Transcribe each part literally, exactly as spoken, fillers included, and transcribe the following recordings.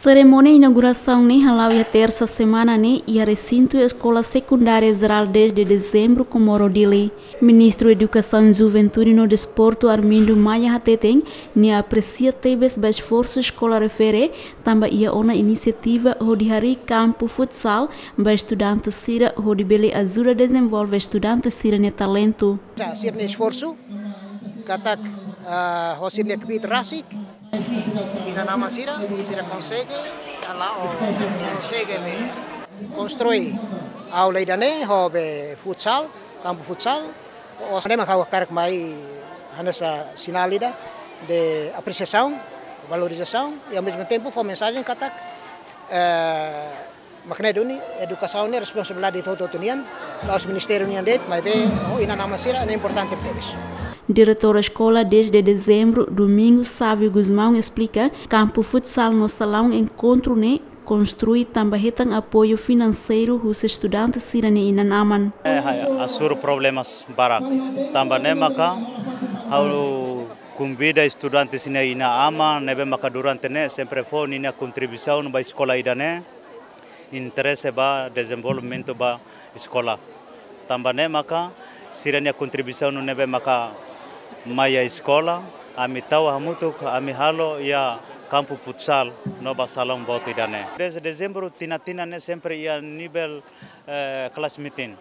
Serimónia inaugurasaun ne'e hala'o iha tersa semana ne'e iha resintu Eskola Sekundária Jerál dez de Dezembru, Comoro, Dili. Ministru Edukasaun, Juventude no Desportu, Armindo Maia, hateten nia apresia tebes ba esforsu eskola refere, tanba iha ona inisiativa hodi harii kampu futsal ba estudante sira hodi bele ajuda dezenvolve estudante sira-nia talentu. Sira-nia esforsu, katak, ah, ho sira-nia kbiit rasik, inan-aman sira, sira konsege, hala'o, konsege be konstrui aula ida-ne'e ho be futsal, kampu futsal. Osan ne'e mak ha'u hakarak mai hanesan sinál ida de apresiasaun, valorizasaun, i ao mesmo tempo fó mensajen katak, eh, mak ne'e duni, edukasaun ne'e responsabilidade de hotu-hotu nian, la'ós ministériu nian de'it, maibé ho inan-aman sira ne'e importante tebes. Diretór Eskola dez de Dezembru, Domingos Sávio Gusmão, esplika, kampu futsal no salaun enkontru ne'e konstrui tanba hetan apoiu finanseiru husi estudante sira-nia inan-aman. Eh, hai, asur problemas barak. Tanba ne'e maka ha'u konvida estudante sira-nia inan-aman ne'ebé maka durante ne'e sempre fó ninia kontribuisaun ba eskola ida-ne'e, interese ba dezenvolvimentu ba eskola. Tanba ne'e maka sira-nia kontribuisaun ne'ebé maka mai iha eskola, ami tau hamutuk, ami halo iha kampu futsal no ba salaun boot ida-ne'e. Dez de Dezembru tinan-tinan ne'e sempre iha nivel, eh, class meeting.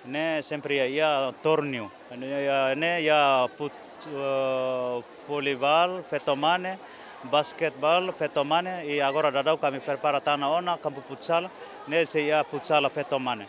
Ne'e sempre iha, iha torneiu. Ne'e iha, ne'e iha fut-, eh, voleibol, feto mane, basquetebol, feto mane, i agora daudaun ami prepara tan ona kampu futsal, ne'e sei iha futsal feto mane.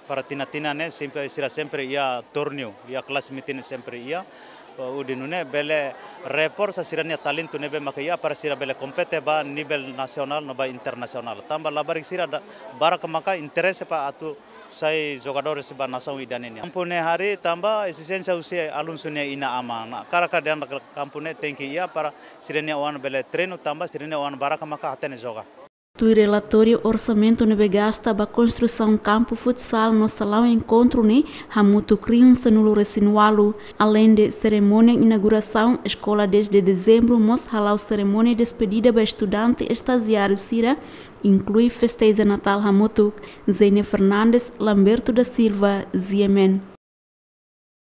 Para tinan-tinan ne'e sempre, sira sempre iha torneiu, iha class meeting sempre iha, eh, hodi nune'e bele reforsa sira-nia talentu ne'ebé maka iha para sira bele kompete ba nivel nasionál no ba internasionál. Tanba labarik sira da-, barak maka interese para atu sai jogadores ba nasaun ida-ne'e nian. Kampu ne'e harii tanba ezijénsia husi alun sira-nia inan-aman. Hakarak dehan kampu ne'e tenke iha para sira-nia oan bele treinu tanba sira-nia oan barak maka hatene joga. Tuir relatóriu orsamentu ne'ebé gasta ba konstrusaun kampu futsal no salaun enkontru ne'e hamutuk rihun sanulu-resin-ualu. Aleinde serimónia inaugurasaun, Eskola dez de Dezembru mós hala'o serimónia despedida ba estudante estajiáriu sira, inklui festeja Natál hamutuk. Zenia Fernandes, Lamberto da Silva, G M N.